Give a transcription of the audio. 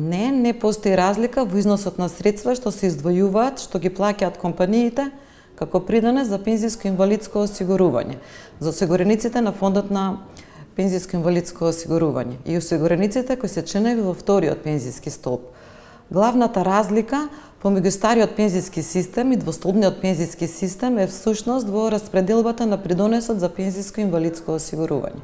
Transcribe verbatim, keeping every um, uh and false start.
Не, не постои разлика во износот на средства што се издвојуваат, што ги плаќаат компаниите како придонес за пензиско инвалидско осигурување, за осигурениците на фондот на пензиско инвалидско осигурување и осигурениците кои се членови во вториот пензиски столб. Главната разлика помеѓу стариот пензиски систем и двостолбниот пензиски систем е всушност во распределбата на придонесот за пензиско инвалидско осигурување.